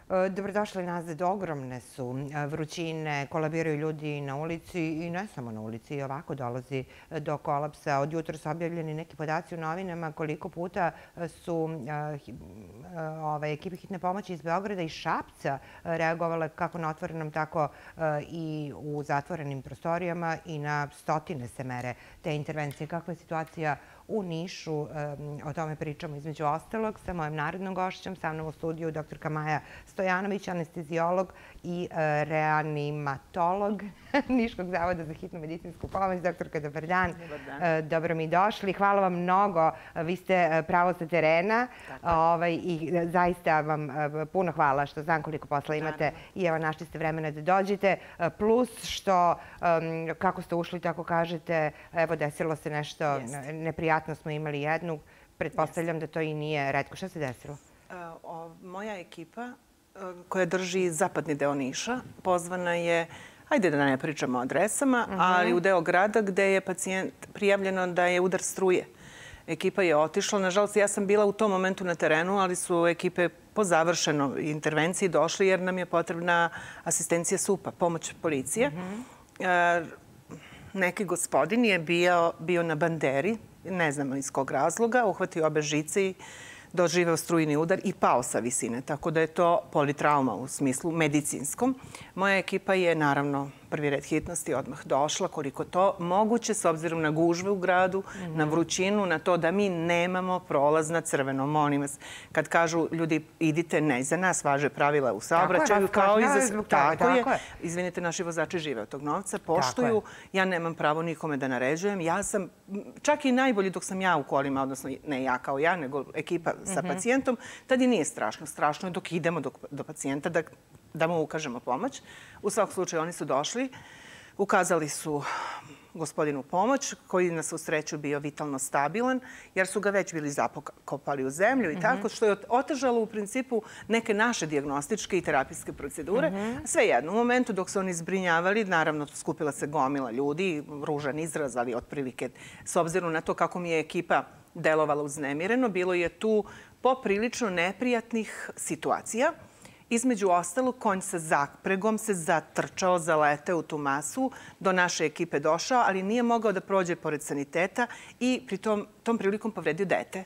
Dobrodošli nazad. Ogromne su vrućine, kolabiraju ljudi na ulici i ne samo na ulici. I ovako dolazi do kolapsa. Od jutra su objavljeni neki podaci u novinama koliko puta su ekipe hitne pomoći iz Beograda i Šapca reagovale kako na otvorenom, tako i u zatvorenim prostorijama i na stotine se mere te intervencije. Kakva je situacija u Nišu? O tome pričamo između ostalog sa mojim narednom gošćom, sa mnom u studiju dr. Maja Stojanović, anesteziolog i reanimatolog Niškog zavoda za hitnu medicinsku pomoć. Doktorka, dobar dan. Dobro mi došli. Hvala vam mnogo. Vi ste pravo sa terena i zaista vam puno hvala što znam koliko posla imate i evo našli ste vremena da dođete. Plus što kako ste ušli, tako kažete, evo desilo se nešto neprijatno, smo imali jednu. Pretpostavljam da to i nije retko. Šta se desilo? Moja ekipa koja drži zapadni deo Niša pozvana je, hajde da ne pričamo o adresama, ali u deo grada gde je pacijent prijavljeno da je udar struje. Ekipa je otišla. Nažalost, ja sam bila u tom momentu na terenu, ali su ekipe po završenoj intervenciji došli jer nam je potrebna asistencija SUP-a, pomoć policije. Neki gospodin je bio na banderi, ne znamo iz kog razloga, uhvatio obe žice i doživeo strujni udar i pao sa visine. Tako da je to politrauma u smislu medicinskom. Moja ekipa je, naravno, prvi red hitnosti odmah došla, koliko to moguće, s obzirom na gužve u gradu, na vrućinu, na to da mi nemamo prolaz na crveno. Molim vas, kad kažu ljudi idite, ne za nas, važe pravila u saobraćaju, kao i za... Tako je. Izvinite, naši vozači žive od tog novca, poštuju. Ja nemam pravo nikome da naređujem. Ja sam, čak i najbolji dok sam ja u kolima, odnosno ne ja kao ja, nego ekipa sa pacijentom, tad i nije strašno. Strašno je dok idemo do pacijenta, da mu ukažemo pomoć. U svakom slučaju oni su došli, ukazali su gospodinu pomoć, koji na svu sreću bio vitalno stabilan, jer su ga već bili zakopali u zemlju i tako, što je otežalo u principu neke naše dijagnostičke i terapijske procedure. Svejedno, u momentu dok su oni zbrinjavali, naravno skupila se gomila ljudi, ružan izraz, ali otprilike, s obzirom na to kako mi je ekipa delovala uznemireno, bilo je tu poprilično neprijatnih situacija. Između ostalog, konj sa zapregom se zatrčao, zaleteo u tu masu, do naše ekipe došao, ali nije mogao da prođe pored saniteta i pri tom prilikom povredio dete.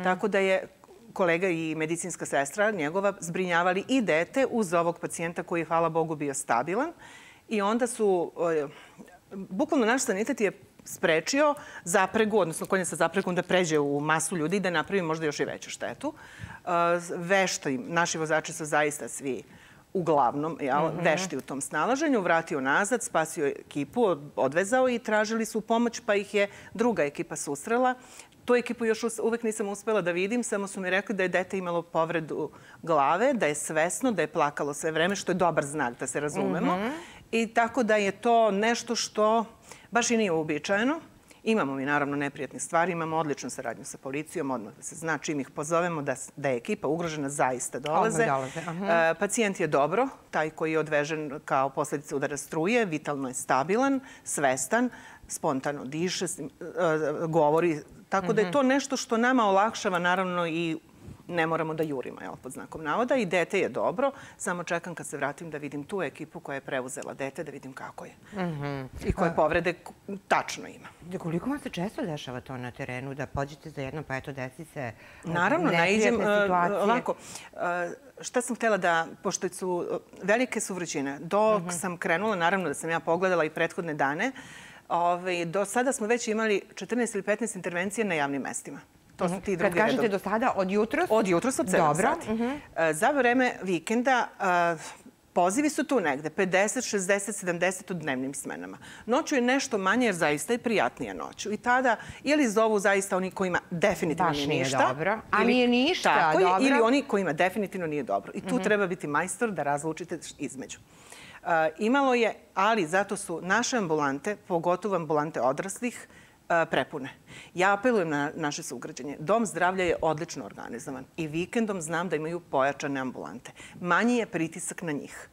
Tako da je kolega i medicinska sestra njegova zbrinjavali i dete uz ovog pacijenta koji je, hvala Bogu, bio stabilan. I onda su, bukvalno naš sanitet je sprečio zapregu, odnosno konja sa zapregom da pređe u masu ljudi i da napravi možda još i veću štetu. Vešti, naši vozači su zaista svi uglavnom vešti u tom snalaženju, vratio nazad, spasio ekipu, odvezao i tražili su pomoć, pa ih je druga ekipa susrela. Tu ekipu još uvek nisam uspela da vidim, samo su mi rekli da je dete imalo povredu glave, da je svesno, da je plakalo sve vreme, što je dobar znak, da se razumemo. I tako da je to nešto što baš i nije uobičajeno. Imamo mi naravno neprijatnih stvari, imamo odličnu saradnju sa policijom, odmah da se zna čim ih pozovemo da je ekipa ugrožena, zaista dolaze. Pacijent je dobro, taj koji je odvežen kao posljedica udara struje, vitalno je stabilan, svestan, spontano diše, govori. Tako da je to nešto što nama olakšava naravno i ne moramo da jurimo, pod znakom navoda. I dete je dobro, samo čekam kad se vratim da vidim tu ekipu koja je preuzela dete, da vidim kako je. I koje povrede tačno ima. Koliko vam se često dešava to na terenu, da pođete za jedno, pa eto, desi se naravno, neprijatne situacije? Ovako, šta sam htjela da, pošto su velike su vrućine, dok sam krenula, naravno da sam ja pogledala i prethodne dane, do sada smo već imali 14 ili 15 intervencija na javnim mestima. Kad kažete do sada, od jutros? Od jutros, od 7 sati. Za vreme vikenda pozivi su tu negde, 50, 60, 70 u dnevnim smenama. Noću je nešto manje jer zaista je prijatnija noću. I tada ili zovu zaista oni kojima definitivno nije ništa. Baš nije dobro. A nije ništa dobro. Ili oni kojima definitivno nije dobro. I tu treba biti majstor da razlučite između. Imalo je, ali zato su naše ambulante, pogotovo ambulante odraslih, prepune. Ja apelujem na naše sugrađanje. Dom zdravlja je odlično organizovan i vikendom znam da imaju pojačane ambulante. Manji je pritisak na njih.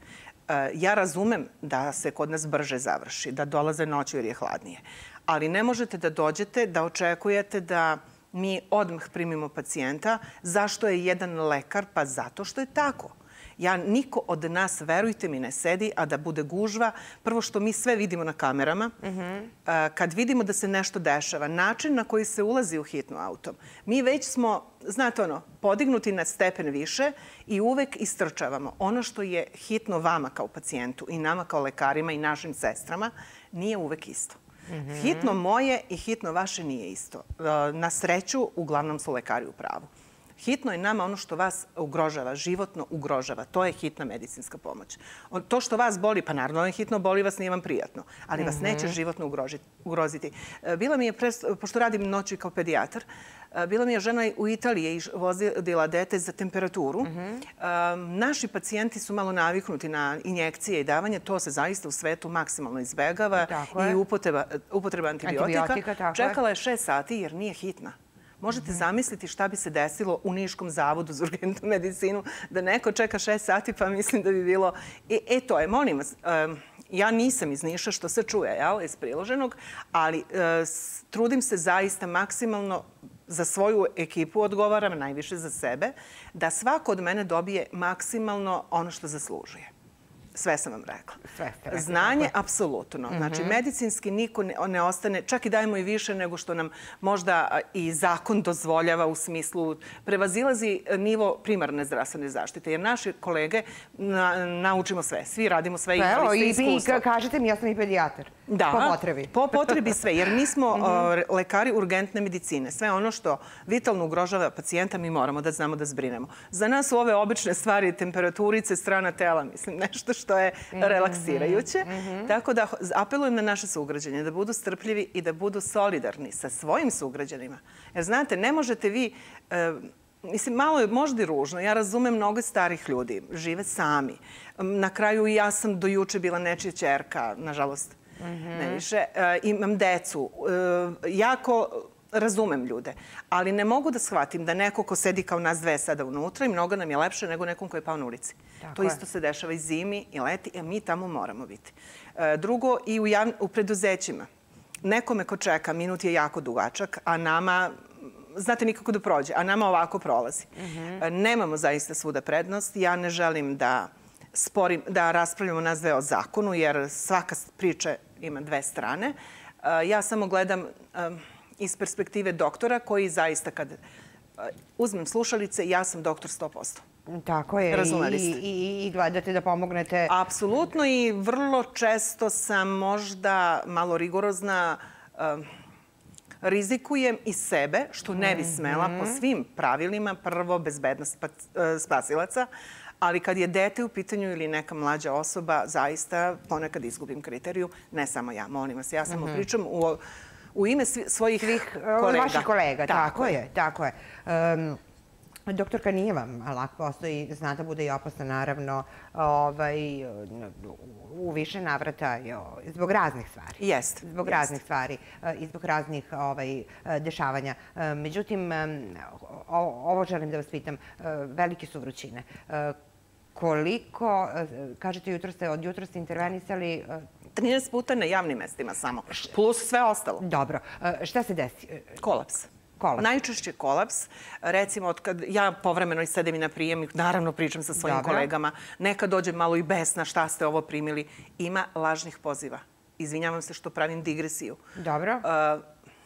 Ja razumem da se kod nas brže završi, da dolaze noću jer je hladnije. Ali ne možete da dođete, da očekujete da mi odmah primimo pacijenta. Zašto je jedan lekar? Pa zato što je tako. Niko od nas, verujte mi, ne sedi, a da bude gužva. Prvo što mi sve vidimo na kamerama. Kad vidimo da se nešto dešava, način na koji se ulazi u hitnu autom, mi već smo, znate podignuti na stepen više i uvek istrčavamo. Ono što je hitno vama kao pacijentu i nama kao lekarima i našim sestrama nije uvek isto. Hitno moje i hitno vaše nije isto. Na sreću, uglavnom su lekari u pravu. Hitno je nama ono što vas ugrožava, životno ugrožava. To je hitna medicinska pomoć. To što vas boli, pa naravno je hitno, boli vas, nije vam prijatno, ali vas neće životno ugroziti. Bila mi je, pošto radim noću kao pedijatar, bila mi je žena u Italiji i vozila dete za temperaturu. Naši pacijenti su malo naviknuti na injekcije i davanje. To se zaista u svetu maksimalno izbegava i upotreba antibiotika. Čekala je 6 sati jer nije hitna. Možete zamisliti šta bi se desilo u Niškom zavodu za urgentnu medicinu da neko čeka 6 sati, pa mislim da bi bilo... To je, molim vas, ja nisam iz Niša, što se čuje, iz priloženog, ali trudim se zaista maksimalno za svoju ekipu, odgovaram najviše za sebe, da svako od mene dobije maksimalno ono što zaslužuje. Sve sam vam rekla. Znanje, apsolutno. Znači, medicinski niko ne ostane, čak i dajemo i više nego što nam možda i zakon dozvoljava u smislu prevazilazi nivo primarne zdravstvene zaštite. Jer naši kolege naučimo sve. Svi radimo sve i imali ste iskustvo. I kažete mi, ja sam i pedijatar. Da, po potrebi. Po potrebi sve, jer mi smo lekari urgentne medicine. Sve ono što vitalno ugrožava pacijenta mi moramo da znamo da zbrinemo. Za nas su ove obične stvari, temperaturice, strana tela, mislim, nešto što je relaksirajuće. Tako da apelujem na naše sugrađane da budu strpljivi i da budu solidarni sa svojim sugrađanima. Jer znate, ne možete vi... Mislim, malo je možda i ružno. Ja razumem mnogo starih ljudi. Žive sami. Na kraju i ja sam do juče bila nečija ćerka, nažalost, ne više. Imam decu. Jako razumem ljude. Ali ne mogu da shvatim da neko ko sedi kao nas dve sada unutra i mnogo nam je lepše nego nekom ko je pao na ulici. To isto se dešava i zimi i leti, a mi tamo moramo biti. Drugo, i u preduzećima. Nekome ko čeka, minut je jako dugačak, a nama... Znate, nikako da prođe, a nama ovako prolazi. Nemamo zaista svuda prednost. Ja ne želim da raspravljamo nas dve o zakonu, jer svaka priča ima dve strane. Ja samo gledam iz perspektive doktora koji zaista kad uzmem slušalice, ja sam doktor 100%. Tako je. I gledate da pomognete. Apsolutno i vrlo često sam možda malo rigorozna. Rizikujem i sebe, što ne bi smela po svim pravilima, prvo bezbednost spasilaca, ali kad je dete u pitanju ili neka mlađa osoba, zaista ponekad izgubim kriteriju. Ne samo ja, molim vas. Ja samo pričam u ime svojih kolega. Vaših kolega, tako je. Doktorka, nije vam lak posao i zna da bude i opasna, naravno, u više navrata zbog raznih stvari. Jeste. Zbog raznih stvari i zbog raznih dešavanja. Međutim, ovo želim da vas pitam, velike su vrućine. Koliko, kažete, od jutra ste intervenisali... 13 puta na javnim mestima samo, plus sve ostalo. Dobro. Šta se desi? Kolaps. Najčešće kolaps. Recimo, kad ja povremeno sedem i na prijem, naravno pričam sa svojim kolegama, nekad dođe malo i besna, šta ste ovo primili. Ima lažnih poziva. Izvinjavam se što pravim digresiju. Dobro.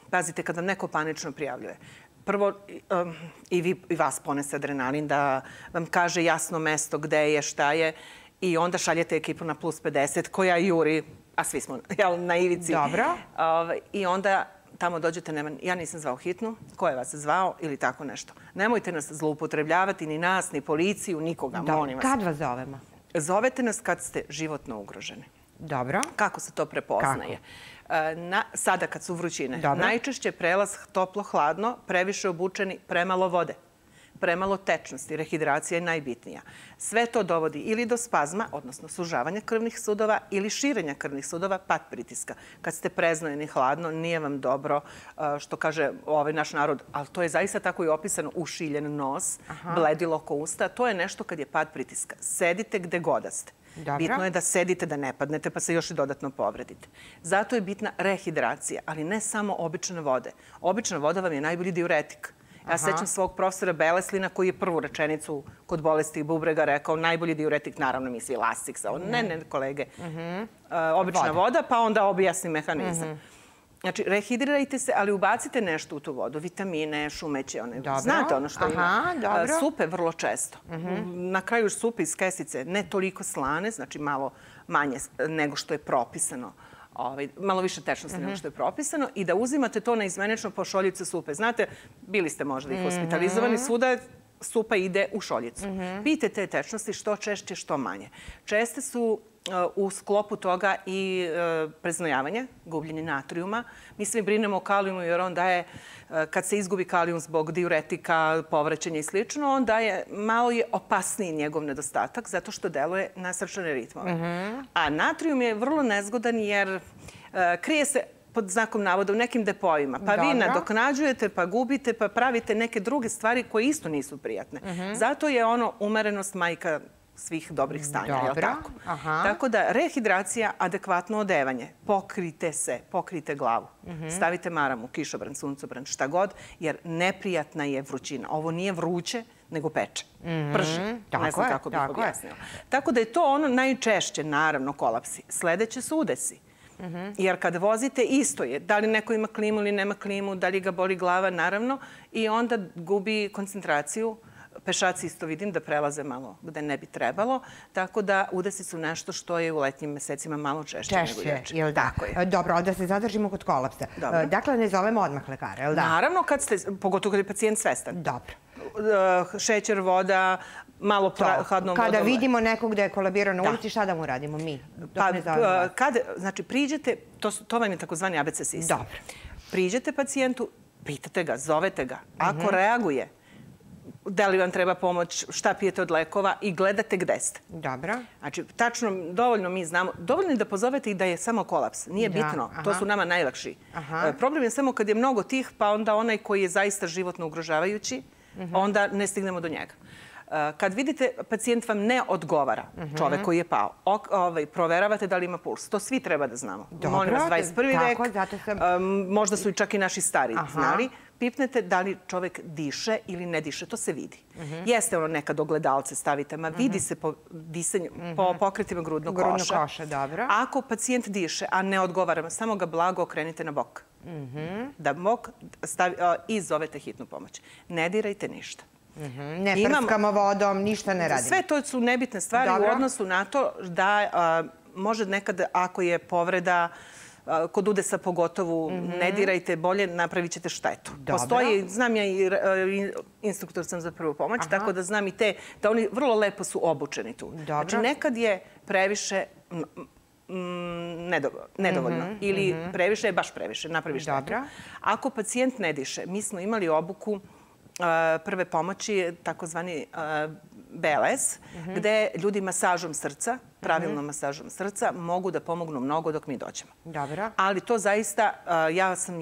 Pazite, kad vam neko panično prijavljuje, prvo i vas ponese adrenalin da vam kaže jasno mesto gde je, šta je, i onda šaljete ekipu na plus 50 koja juri, a svi smo na ivici. Dobro. I onda tamo dođete, ja nisam zvao hitnu, ko je vas zvao ili tako nešto. Nemojte nas zloupotrebljavati, ni nas, ni policiju, nikoga, molim vas. Kad vas zovemo? Zovete nas kad ste životno ugroženi. Dobro. Kako se to prepoznaje? Sada kad su vrućine. Najčešće prelaz toplo-hladno, previše obučeni, premalo vode. Premalo tečnosti, rehidracija je najbitnija. Sve to dovodi ili do spazma, odnosno sužavanja krvnih sudova, ili širenja krvnih sudova, pad pritiska. Kad ste preznojeni hladno, nije vam dobro, što kaže ovaj naš narod, ali to je zaista tako i opisano, ušiljen nos, bledilo ko usta. To je nešto kad je pad pritiska. Sedite gde god ste. Bitno je da sedite, da ne padnete, pa se još i dodatno povredite. Zato je bitna rehidracija, ali ne samo obične vode. Obična voda vam je najbolji diuretik. Ja sećam svog profesora Beleslina koji je prvu rečenicu kod bolesti bubrega rekao najbolji diuretik, naravno misli lastiksa. Ne, kolege. Obična voda, pa onda objasni mehanizam. Znači, rehidrirajte se, ali ubacite nešto u tu vodu. Vitamine, šumeće, znate ono što ima. Supe vrlo često. Na kraju supe iz kesice ne toliko slane, znači malo manje nego što je propisano. Malo više tečnosti nego što je propisano. I da uzimate to naizmenično po šoljicu supe. Znate, bili ste možda i hospitalizovani, svuda supa ide u šoljicu. Pijte te tečnosti što češće, što manje. Česte su u sklopu toga i preznojavanje, gubljenje natrijuma. Mi svi brinemo o kalijumu jer on daje, kad se izgubi kalijum zbog diuretika, povraćanja i slično, on daje, malo je opasniji njegov nedostatak zato što deluje na srčane ritmove. A natrijum je vrlo nezgodan jer krije se pod znakom navoda u nekim depoima. Pa vi nadoknađujete, pa gubite, pa pravite neke druge stvari koje isto nisu prijatne. Zato je ono umerenost majka svih dobrih stanja, je li tako? Tako da, rehidracija, adekvatno odevanje. Pokrijte se, pokrijte glavu. Stavite maramu, kišobran, suncobran, šta god, jer neprijatna je vrućina. Ovo nije vruće, nego peče. Prži. Ne znam kako bih objasnila. Tako da je to ono najčešće, naravno, kolapsi. Sledeće su udesi. Jer kad vozite, isto je. Da li neko ima klimu ili nema klimu, da li ga boli glava, naravno. I onda gubi koncentraciju. Pešaci isto vidim da prelaze malo gde ne bi trebalo. Tako da udesi su nešto što je u letnjim mesecima malo češće nego lječe. Tako je. Dobro, da se zadržimo kod kolapsa. Dakle, ne zovemo odmah lekara, je li da? Naravno, pogotovo kad je pacijent svestan. Dobro. Šećer, voda, malo hladnom vodom. Kada vidimo nekog da je kolabirao na ulici, šta da mu radimo mi? Znači, priđete, to vam je takozvani ABC sistem. Dobro. Priđete pacijentu, pitate ga, zovete ga. Ako reaguje, da li vam treba pomoć, šta pijete od lekova i gledate gde ste. Dobro. Znači, tačno, dovoljno mi znamo, dovoljno je da pozovete i da je samo kolaps. Nije bitno, to su nama najlakši. Problem je samo kad je mnogo tih, pa onda onaj koji je zaista životno ugrožavajući, onda ne stignemo do njega. Kad vidite pacijent vam ne odgovara, čovek koji je pao, proveravate da li ima puls. To svi treba da znamo. Molim vas, 21. vek, možda su i čak i naši stari znali. Pipnete da li čovek diše ili ne diše. To se vidi. Jeste ono nekad ogledalce stavite, ma vidi se po disanju, po pokretima grudnog koša. Grudnog koša, dobro. Ako pacijent diše, a ne odgovara, samo ga blago okrenite na bok. Da bok i zovete hitnu pomoć. Ne dirajte ništa. Ne prskamo vodom, ništa ne radimo. Sve to su nebitne stvari u odnosu na to da može nekad, ako je povreda, kod udesa pogotovo, ne dirajte bolje, napravit ćete štetu. Postoji, znam ja i instruktor sam za prvu pomoć, tako da znam i te, da oni vrlo lepo su obučeni tu. Znači, nekad je previše nedovoljno ili previše je baš previše, napravi štetu. Ako pacijent ne diše, mi smo imali obuku prve pomoći, takozvani BLS, gde ljudi masažom srca, pravilnom masažom srca, mogu da pomognu mnogo dok mi dođemo. Dobro. Ali to zaista, ja sam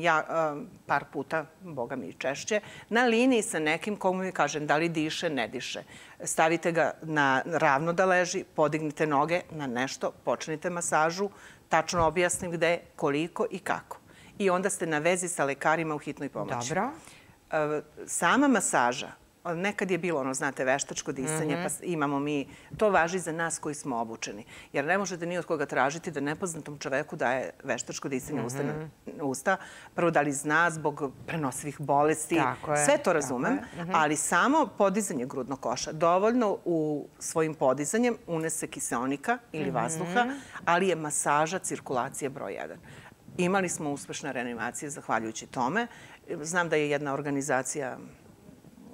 par puta, boga mi i češće, na liniji sa nekim komu mi kažem da li diše, ne diše. Stavite ga ravno da leži, podignite noge na nešto, počnite masažu, tačno objasnim gde, koliko i kako. I onda ste na vezi sa lekarima u hitnoj pomoći. Dobro. Sama masaža, nekad je bilo ono, znate, veštačko disanje, pa imamo mi, to važi za nas koji smo obučeni. Jer ne možete ni od koga tražiti da nepoznatom čoveku daje veštačko disanje usta. Prvo da li zna zbog prenosivih bolesti, sve to razumem, ali samo podizanje grudnog koša. Dovoljno u svojim podizanjem unese kiseonika ili vazduha, ali je masaža cirkulacije broj 1. Imali smo uspešne reanimacije zahvaljujući tome. Znam da je jedna organizacija,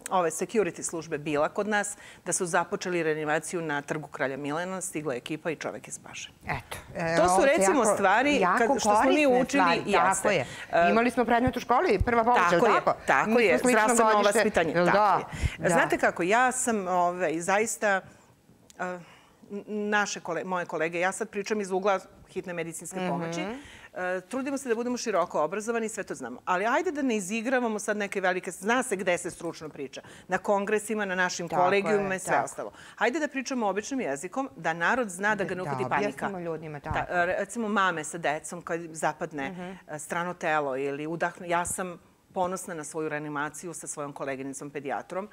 ove security službe bila kod nas, da su započeli reanimaciju na Trgu Kralja Milana, stigla je ekipa i čovek je spašen. Eto. To su recimo stvari što smo mi učili i tako je. Imali smo predmet u školi, prva pomoć, je li tako? Tako je, zdravstveno vaspitanje. Znate kako, ja sam zaista, moje kolege, ja sad pričam iz ugla hitne medicinske pomoći, trudimo se da budemo široko obrazovani i sve to znamo. Ali ajde da ne izigravamo sad neke velike... Zna se gde se stručno priča. Na kongresima, na našim kolegijumima i sve ostalo. Ajde da pričamo običnim jezikom, da narod zna da ga ne uhvati panika. Da objasnimo ljudima, tako. Recimo mame sa decom kad zapadne strano telo ili udahnu. Ja sam ponosna na svoju reanimaciju sa svojom koleginicom pedijatrom.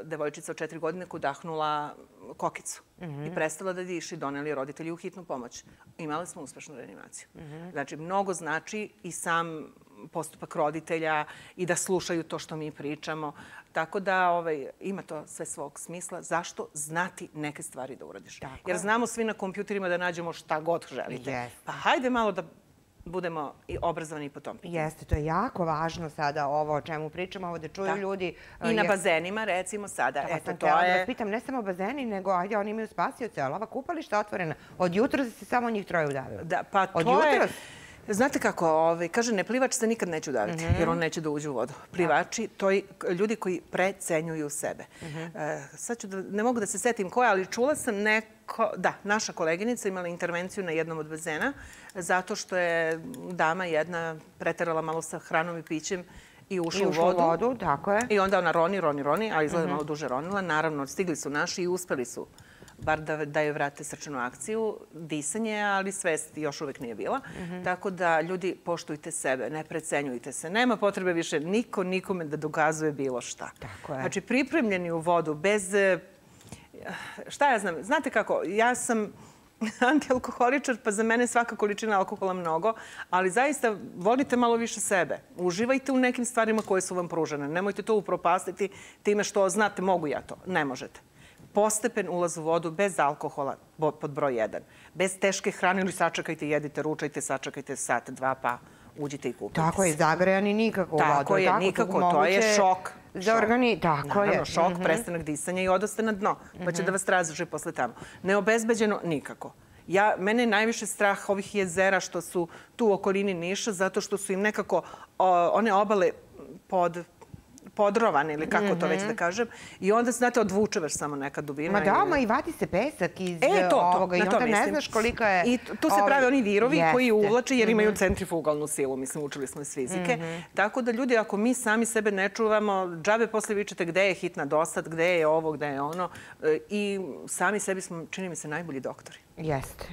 Devojčica od 4 godine udahnula kokicu i prestala da diši, doneli roditelji u hitnu pomoć. Imali smo uspešnu reanimaciju. Znači, mnogo znači i sam postupak roditelja i da slušaju to što mi pričamo. Tako da ima to sve svog smisla. Zašto znati neke stvari da uradiš? Jer znamo svi na kompjuterima da nađemo šta god želite. Pa hajde malo da budemo i obrazovani po tom pitanju. Jeste, to je jako važno sada ovo o čemu pričamo, ovo da čuju ljudi. I na bazenima, recimo sada. Eto, to je... Da vas pitam, ne samo bazeni, nego ajde, oni imaju spasioce, ali ova kupališta otvorena. Od jutra se samo njih troje udavilo. Da, pa to je... Znate kako, kaže, neplivač se nikad neće udaviti, jer on neće da uđe u vodu. Plivači, to je ljudi koji precenjuju sebe. Sad ću ne mogu da se setim koja, ali čula sam naša koleginica imala intervenciju na jednom od bazena, zato što je dama jedna preterala malo sa hranom i pićem i ušla u vodu. Tako je. I onda ona roni, ali izgleda malo duže ronila. Naravno, stigli su naši i uspeli su bar da joj vrate srčanu akciju, disanje, ali svest još uvek nije bila. Tako da, ljudi, poštujte sebe, ne precenjujte se. Nema potrebe više niko nikome da dokazuje bilo šta. Znači, pripremljeni u vodu, bez... Šta ja znam? Znate kako, ja sam antialkoholičar, pa za mene svaka količina alkohola mnogo, ali zaista volite malo više sebe. Uživajte u nekim stvarima koje su vam pružene. Nemojte to upropastiti time što znate, mogu ja to. Ne možete. Postepen ulaz u vodu bez alkohola pod broj 1. Bez teške hrane ili sačekajte, jedite, ručajte, sačekajte sat, 2, pa uđite i kupite se. Tako je, zagrejani nikako u vodu. Tako je, nikako, to je šok. Za organi, tako je. Naravno, šok, prestanak disanja i odoste na dno, pa će da vas traže posle tamo. Neobezbeđeno, nikako. Mene je najviše strah ovih jezera što su tu u okolini Niša, zato što su im nekako one obale podrovane ili kako to već da kažem. I onda, znate, odvuče već samo neka dubina. Ma da, i vadi se pesak iz ovoga i onda ne znaš kolika je... I tu se prave oni virovi koji uvlače jer imaju centrifugalnu silu. Mislim, učili smo iz fizike. Tako da, ljudi, ako mi sami sebe ne čuvamo, džabe posle vičete gde je hitna dosad, gde je ovo, gde je ono. I sami sebi smo, čini mi se, najbolji doktori. Jeste,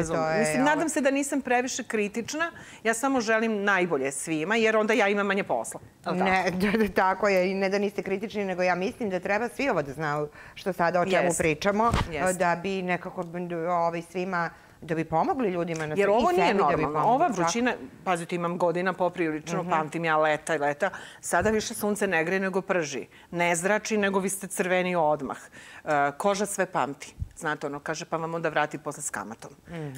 to je... Mislim, nadam se da nisam previše kritična. Ja samo želim najbolje svima, jer onda ja imam manje posla. Ne, tako je. I ne da niste kritični, nego ja mislim da treba svi ovo da znaju što sada o čemu pričamo, da bi nekako svima, da bi pomogli ljudima na to. Jer ovo nije normalno. Ova vrućina, pazite, imam godina poprilično, pamtim ja leta i leta, sada više sunce ne greje nego prži. Ne zrači, nego vi ste crveni odmah. Koža sve pamti. Znate, ono, kaže, pa vam onda vrati posle s kamatom.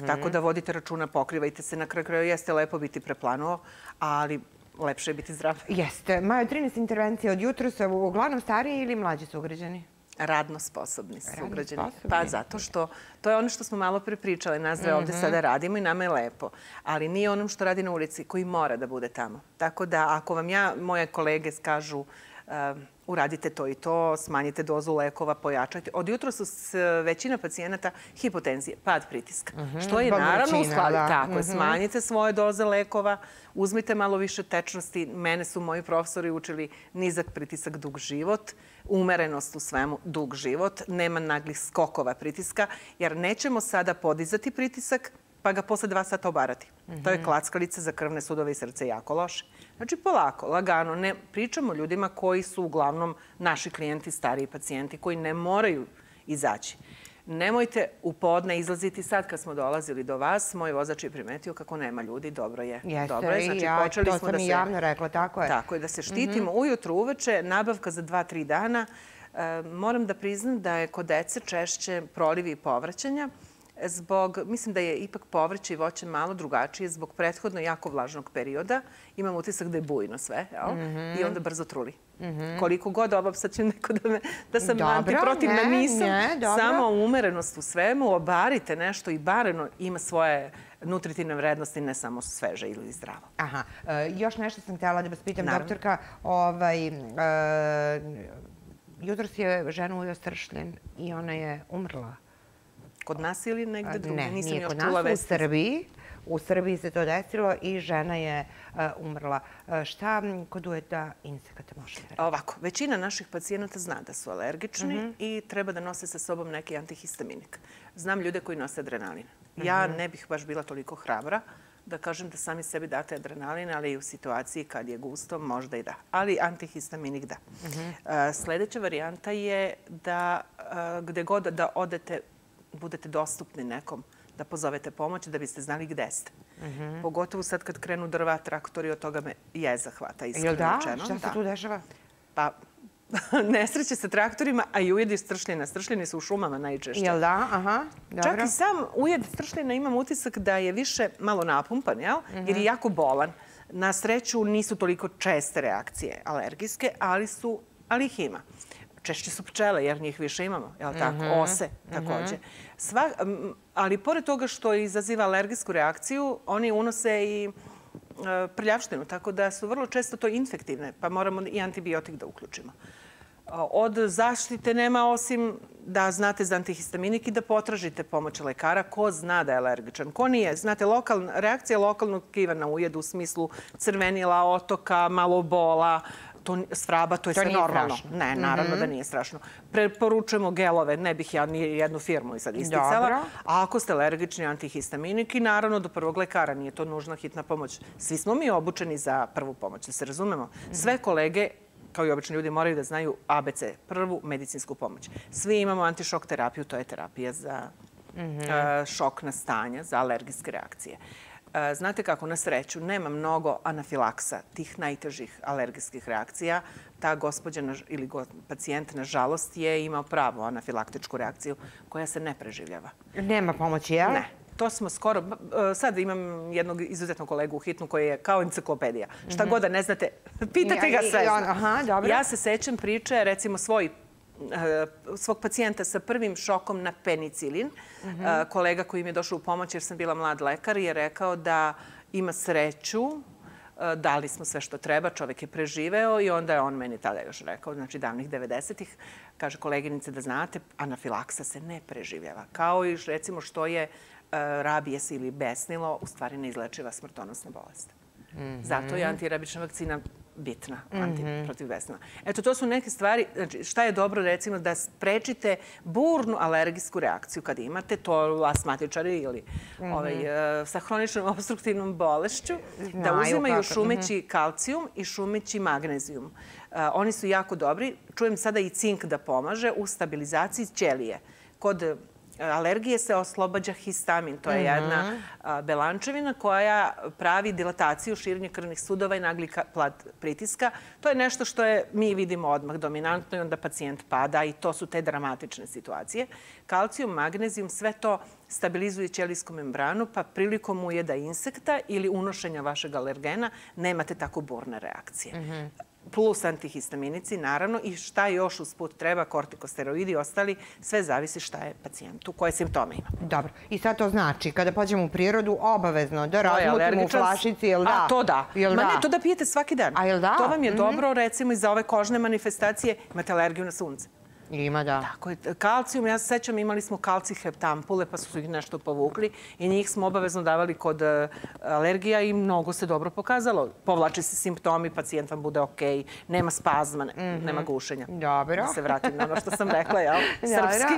Tako da vodite računa, pokrivajte se. Na kraju jeste lepo biti preplanuo, ali lepše je biti zdrav. Jeste. Majo, 13 intervencija od jutra su uglavnom stariji ili mlađi sugrađani? Radno sposobni sugrađani. Pa zato što to je ono što smo malo prepričali. Nas dve ovde sada radimo i nama je lepo. Ali nije onom što radi na ulici koji mora da bude tamo. Tako da ako vam moje kolege kažu uradite to i to, smanjite dozu lekova, pojačajte. Od jutra su većina pacijenata hipotenzije, pad pritiska. Što je naravno u skladu. Tako, smanjite svoje doze lekova, uzmite malo više tečnosti. Mene su moji profesori učili nizak pritisak, dug život, umerenost u svemu, dug život, nema naglih skokova pritiska, jer nećemo sada podizati pritisak, pa ga posle 2 sata obarati. To je klackalica za krvne sudove i srce jako loše. Znači, polako, lagano. Ne pričamo ljudima koji su uglavnom naši klijenti, stariji pacijenti, koji ne moraju izaći. Nemojte u podne izlaziti. Sad kad smo dolazili do vas, moj vozač je primetio kako nema ljudi. Dobro je. Jeste, i to sam i javno rekla, tako je. Tako je, da se štitimo ujutru, uveče, nabavka za 2-3 dana. Moram da priznam da je kod dece češće prolivi i povraćanja. Mislim da je ipak povrće i voće malo drugačije zbog prethodno jako vlažnog perioda. Imam utisak da je bujno sve i onda brzo truli. Koliko god sad će neko da sam antiprotivna, nisam. Samo umerenost u svemu, obarite nešto i bareno ima svoje nutritivne vrednosti, ne samo sveže ili zdravo. Aha. Još nešto sam htjela da vas pitam, doktorka. Jutros je žena ujeo stršljen i ona je umrla. Kod nas ili negde drugo? Ne, nije kod nas, u Srbiji. U Srbiji se to desilo i žena je umrla. Šta kod ujeda insekata možete reći? Ovako, većina naših pacijenata zna da su alergični i treba da nose sa sobom neki antihistaminik. Znam ljude koji nose adrenalin. Ja ne bih baš bila toliko hrabra da kažem da sami sebi date adrenalin, ali i u situaciji kad je gusto možda i da. Ali antihistaminik da. Sljedeća varijanta je da gde god da odete, budete dostupni nekom, da pozovete pomoć da biste znali gde ste. Pogotovo sad kad krenu drva, traktori, od toga me jeza hvata. Jel da? Šta se tu dešava? Pa, nesreće sa traktorima, a i ujedi stršljena. Stršljeni su u šumama najčešće. Jel da? Aha, dobro. Čak i sam ujed stršljena imam utisak da je više malo napumpan, jer je jako bolan. Na sreću nisu toliko česte reakcije alergijske, ali ih ima. Češće su pčele, jer njih više imamo, jel tako? Ose također. Ali pored toga što izaziva alergijsku reakciju, oni unose i prljavštinu, tako da su vrlo često to infektivne, pa moramo i antibiotik da uključimo. Od zaštite nema osim da znate za antihistaminik i da potražite pomoć lekara ko zna da je alergičan. Ko nije? Znate, reakcija lokalnog tkiva na ujed u smislu crvenila, otoka, malo bola, svraba, to je sve normalno. Ne, naravno da nije strašno. Preporučujemo gelove, ne bih ja ni jednu firmu sad isticala. A ako ste alergični antihistaminik, i naravno do prvog lekara, nije to nužna hitna pomoć. Svi smo mi obučeni za prvu pomoć, da se razumemo. Sve kolege, kao i obični ljudi, moraju da znaju ABC, prvu medicinsku pomoć. Svi imamo antišok terapiju, to je terapija za šokna stanja, za alergijske reakcije. Znate kako, na sreću, nema mnogo anafilaksa, tih najtežih alergijskih reakcija. Ta gospođa ili pacijent, nažalost, je imao pravu anafilaktičku reakciju koja se ne preživljava. Nema pomoći, jel? Ne. To smo skoro... Sad imam jednog izuzetnog kolegu u hitnu koji je kao enciklopedija. Šta god da ne znate, pitate ga sve. Ja se sećam priče, recimo svog pacijenta sa prvim šokom na penicilin. Kolega koji mi je došao u pomoć jer sam bila mlad lekar je rekao da ima sreću, dali smo sve što treba, čovjek je preživeo i onda je on meni tada još rekao, znači davnih 90-ih, kaže koleginice da znate, anafilaksa se ne preživljava. Kao i recimo što je rabijes ili besnilo, u stvari neizlečiva smrtonosna bolest. Zato je antirabična vakcina bitna protiv besnila. Eto, to su neke stvari. Znači, šta je dobro, recimo, da sprečite burnu alergijsku reakciju kad imate, to astmatičari ili sa hroničnom obstruktivnom bolešću, da uzimaju šumeći kalcijum i šumeći magnezijum. Oni su jako dobri. Čujem sada i cink da pomaže u stabilizaciji ćelije. Kod alergije se oslobađa histamin. To je jedna belančevina koja pravi dilataciju, širenje krvnih sudova i nagli pad pritiska. To je nešto što mi vidimo odmah dominantno i onda pacijent pada i to su te dramatične situacije. Kalcijum, magnezijum, sve to stabilizuje ćelijsku membranu, pa prilikom ujeda insekta ili unošenja vašeg alergena nemate tako burne reakcije. Plus antihistaminici, naravno, i šta još usput treba, kortikosteroidi i ostali, sve zavisi šta je pacijentu, koje simptome ima. Dobro. I sad to znači, kada pođemo u prirodu, obavezno da razmutimo u flašici, jel da? A, to da. Ma ne, to da pijete svaki dan. A jel da? To vam je dobro, recimo, i za ove kožne manifestacije, imate alergiju na sunce. Ima, da. Tako je. Kalcijum, ja se sećam, imali smo kalciheptampule, pa su ih nešto povukli i njih smo obavezno davali kod alergija i mnogo se dobro pokazalo. Povlače se simptomi, pacijent vam bude okej, nema spazma, nema gušenja. Dobro. Da se vratim na ono što sam rekla, jel? Srpski.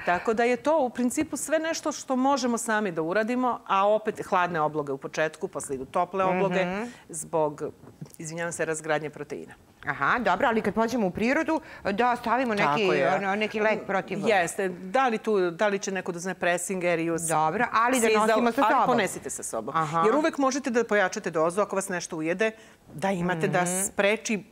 Tako da je to u principu sve nešto što možemo sami da uradimo, a opet hladne obloge u početku, posle idu tople obloge zbog, izvinjavam se, razgradnje proteina. Aha, dobro, ali kad pođemo u prirodu, da stavimo neki lek protiv... Jeste. Da li će neko da uzme Presingerius? Dobro, ali da nosimo sa sobom. Ali ponesite sa sobom. Jer uvek možete da pojačate dozu ako vas nešto ujede, da imate da spreči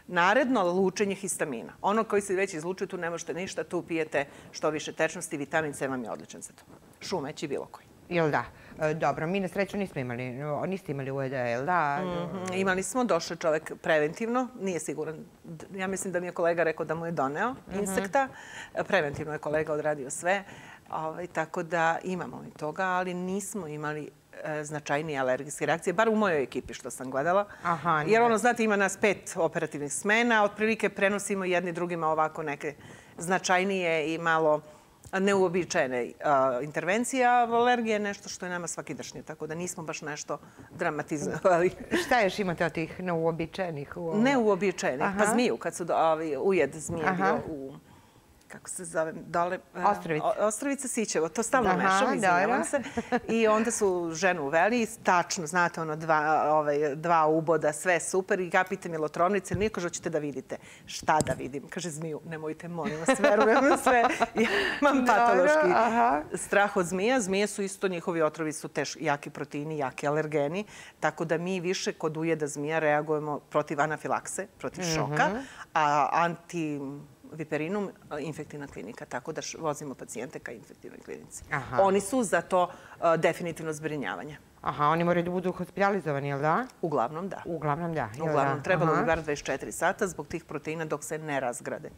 naredno lučenje histamina. Ono koji se već izlučuje, tu ne možete ništa, tu pijete što više tečnosti, vitamin C vam je odličan za to. Šumeći bilo koji. Jel da? Dobro, mi na sreću niste imali ujeda, jel da? Imali smo, došao čovjek preventivno, nije siguran. Ja mislim da mi je kolega rekao da mu je doneo insekta. Preventivno je kolega odradio sve. Tako da imamo i toga, ali nismo imali značajnije alergijske reakcije, bar u mojoj ekipi što sam gledala. Jer znate, ima nas 5 operativnih smena, otprilike prenosimo jedni drugima ovako neke značajnije i malo neuobičajene intervencije, a alergija je nešto što je nama svakidašnje, tako da nismo baš nešto dramatizovali. Šta još imate od tih neuobičajenih? Neuobičajenih, pa zmiju, kad su ujed zmije bio kako se zove, dole... Ostrovica. Ostrovica Sićevo, to stalno mešam, izvinjavam se. I onda su ženu uveli, tačno, znate, dva uboda, sve super. I ja pitam je Lotrovnice, ili nije, kaže, hoćete da vidite. Šta da vidim? Kaže, zmiju, nemojte, molim vas, verujem na sve. Imam patološki strah od zmija. Zmije su isto, njihovi otrovi su jaki proteini, jaki alergeni. Tako da mi više kod ujeda zmija reagujemo protiv anafilakse, protiv šoka, a antiviperinum infektivna klinika, tako da vozimo pacijente ka infektivnoj klinici. Oni su za to definitivno zbrinjavanje. Aha, oni moraju da budu hospitalizovani, jel da? Uglavnom da. Uglavnom da. Uglavnom, trebalo bi bar 24 sata zbog tih proteina dok se ne razgrade.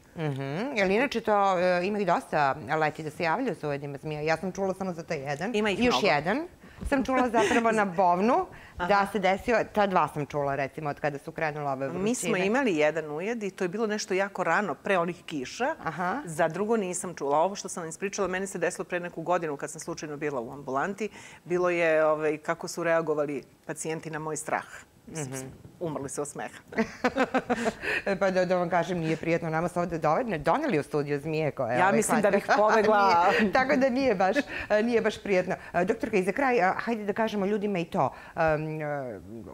Jel inače to ima i dosta leti da se javljaju sa ujedima zmija? Ja sam čula samo za taj jedan. Ima ih mnogo. Još jedan sam čula zapravo na Bovnu da se desio, ta dva sam čula recimo od kada su krenula ove vrućine. Mi smo imali jedan ujed i to je bilo nešto jako rano, pre onih kiša. Za drugo nisam čula. Ovo što sam ispričala, meni se desilo pre neku godinu kad sam slučajno bila u ambulanti. Bilo je kako su reagovali pacijenti na moj strah. Umrli se od smeha. Pa da vam kažem, nije prijetno. Nama su ovde doneli u studiju zmije koje... Ja mislim da bih pobegla. Tako da nije baš prijetno. Doktorka, i za kraj, hajde da kažemo ljudima i to.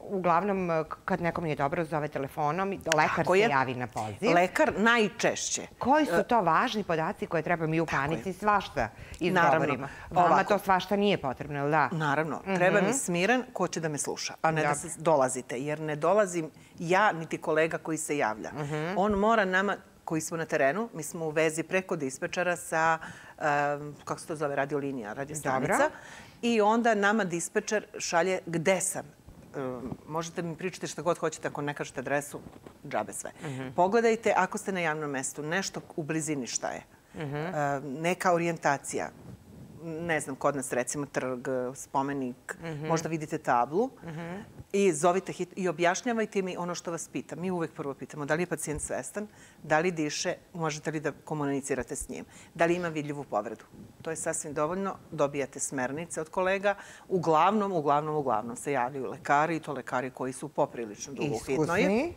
Uglavnom, kad nekom nije dobro, zove telefonom, lekar se javi na poziv. Lekar najčešće. Koji su to važni podaci koje treba mi u panici svašta izgovorimo? Vama to svašta nije potrebno, ili da? Naravno. Treba mi smiren ko će da me sluša, a ne da se dolazite. Jer ne dolazim ja, niti kolega koji se javlja. On mora nama, koji smo na terenu, mi smo u vezi preko dispečera sa, kako se to zove, radiolinija, radiostanica. I onda nama dispečer šalje gde sam. Možete mi pričati šta god hoćete, ako ne kažete adresu, džabe sve. Pogledajte, ako ste na javnom mestu, nešto u blizini šta je. Neka orijentacija. Ne znam, kod nas recimo trg, spomenik, možda vidite tablu i zovite hitno i objašnjavajte mi ono što vas pitam. Mi uvek prvo pitamo da li je pacijent svestan, da li diše, možete li da komunicirate s njim, da li ima vidljivu povredu. To je sasvim dovoljno, dobijate smernice od kolega. Uglavnom se javljaju lekari i to lekari koji su poprilično dugo u hitnoj. Iskusni.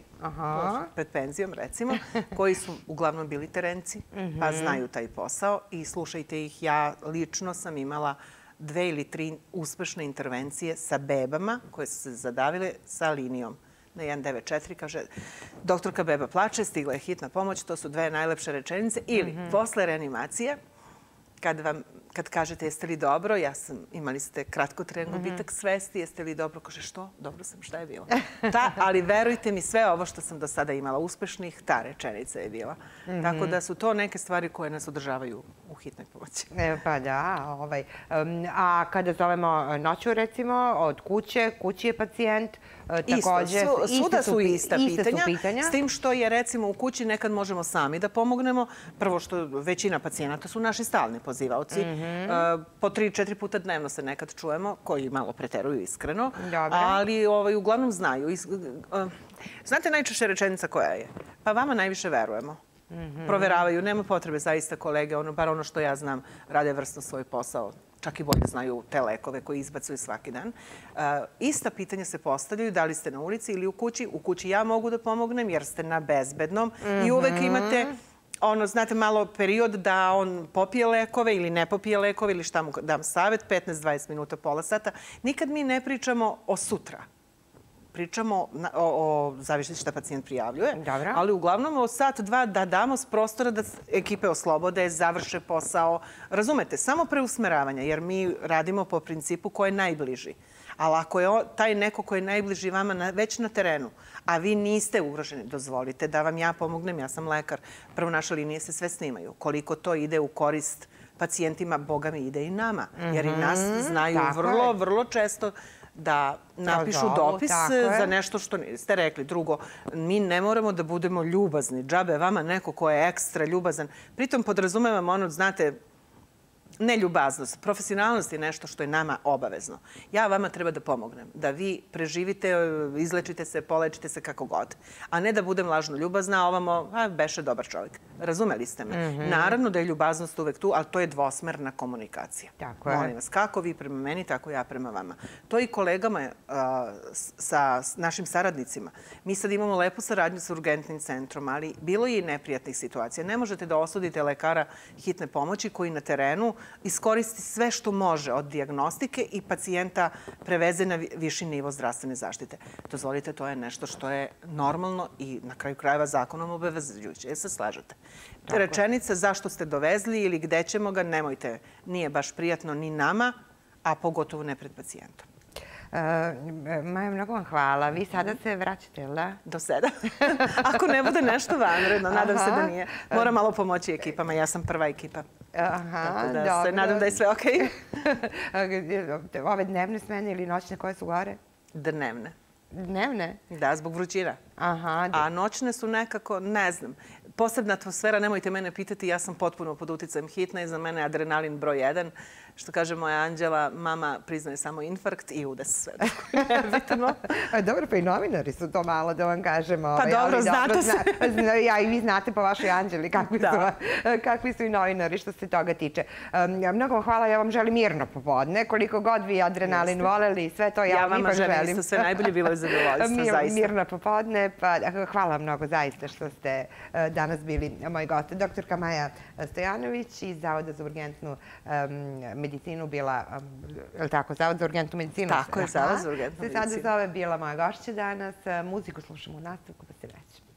Pred penzijom, recimo, koji su uglavnom bili terenci, pa znaju taj posao i slušajte ih. Ja lično sam imala 2 ili 3 uspešne intervencije sa bebama koje su se zadavile sa linijom na 194. Kaže, doktorka beba plače, stigla je hitna pomoć, to su 2 najlepše rečenice. Ili, posle reanimacije, kad kažete jeste li dobro, imali ste kratkotrajan gubitak svesti, jeste li dobro? Kaže, što? Dobro sam, šta je bilo? Ali verujte mi, sve ovo što sam do sada imala uspešnih, ta rečenica je bila. Tako da su to neke stvari koje nas održavaju u hitnoj pomoći. Pa da. A kada zovemo noću, recimo, od kući je pacijent, također... Svuda su ista pitanja, s tim što je, recimo, u kući nekad možemo sami da pomognemo. Prvo što većina pacijenata su naši stalni pozivaoci. Po 3-4 puta dnevno se nekad čujemo, koji malo preteruju iskreno, ali uglavnom znaju. Znate najčešće rečenica koja je? Pa vama najviše verujemo. Proveravaju, nema potrebe zaista kolege, bar ono što ja znam, rade vrsno svoj posao. Čak i bolje znaju te lekove koji izbacuju svaki dan. Ista pitanja se postavljaju da li ste na ulici ili u kući. U kući ja mogu da pomognem jer ste na bezbednom i uvek imate znate, malo period da on popije lekove ili ne popije lekove ili šta mu dam savjet, 15-20 minuta, pola sata. Nikad mi ne pričamo o sutra. Pričamo o zavisno šta pacijent prijavljuje, ali uglavnom o sat, dva da damo s prostora da ekipe oslobode, završe posao. Razumete, samo preusmeravanja, jer mi radimo po principu ko je najbliži. Ali ako je taj neko ko je najbliži vama već na terenu, a vi niste ugroženi, dozvolite da vam ja pomognem, ja sam lekar. Prvo, naše linije se sve snimaju. Koliko to ide u korist pacijentima, Boga mi ide i nama. Jer i nas znaju vrlo često da napišu dopis za nešto što ste rekli. Drugo, mi ne moramo da budemo ljubazni. Džabe vama neko ko je ekstra ljubazan. Pritom podrazumevam znate, neljubaznost. Profesionalnost je nešto što je nama obavezno. Ja vama treba da pomognem, da vi preživite, izlečite se, polečite se kako god. A ne da budem lažno ljubazna, a ovamo, beše dobar čovjek. Razumeli ste me? Naravno da je ljubaznost uvek tu, ali to je dvosmerna komunikacija. Tako je. Molim vas, kako vi prema meni, tako ja prema vama. To i kolegama sa našim saradnicima. Mi sad imamo lepu saradnju sa urgentnim centrom, ali bilo je i neprijatnih situacija. Ne možete da osudite lekara hitne pomoći koji na terenu iskoristi sve što može od dijagnostike i pacijenta preveze na viši nivo zdravstvene zaštite. Dozvolite, to je nešto što je normalno i na kraju krajeva zakonom obavezujuće. Jel se slažete? Rečenica zašto ste dovezli ili gde ćemo ga, nemojte. Nije baš prijatno ni nama, a pogotovo ne pred pacijentom. Maja, mnogo vam hvala. Vi sada se vraćate, ili da? Do 7. Ako ne bude nešto vanredno, nadam se da nije. Moram malo pomoći ekipama, ja sam prva ekipa. Aha, dobro. Tako da se nadam da je sve okej. Ove dnevne smene ili noćne koje su gore? Dnevne. Dnevne? Da, zbog vrućina. Aha. A noćne su nekako, ne znam, posebna atmosfera, nemojte mene pitati, ja sam potpuno pod uticajem hitne i za mene je adrenalin broj 1. Što kaže moja Anđela, mama priznaje samo infarkt i udes sve. Nebitno. Dobro, pa i novinari su to malo, da vam kažemo. Pa dobro, znate se. Ja i vi znate po vašoj Anđeli kakvi su i novinari što se toga tiče. Mnogo vam hvala, ja vam želim mirno popodne. Koliko god vi adrenalin voleli, sve to ja vam ipak želim. Ja vama želim isto sve najbolje, bilo je zadovoljstvo, zaista. Mirno popodne, pa hvala vam mnogo zaista što ste danas bili moj gost. Doktorka Maja Stojanović iz Zavoda za urgentnu medicinu bila, je li tako, Zavod za urgentnu medicinu? Tako je, Zavod za urgentnu medicinu. Se sada zove bila moja gošća danas. Muziku slušamo u nastavku, pa se vraćamo.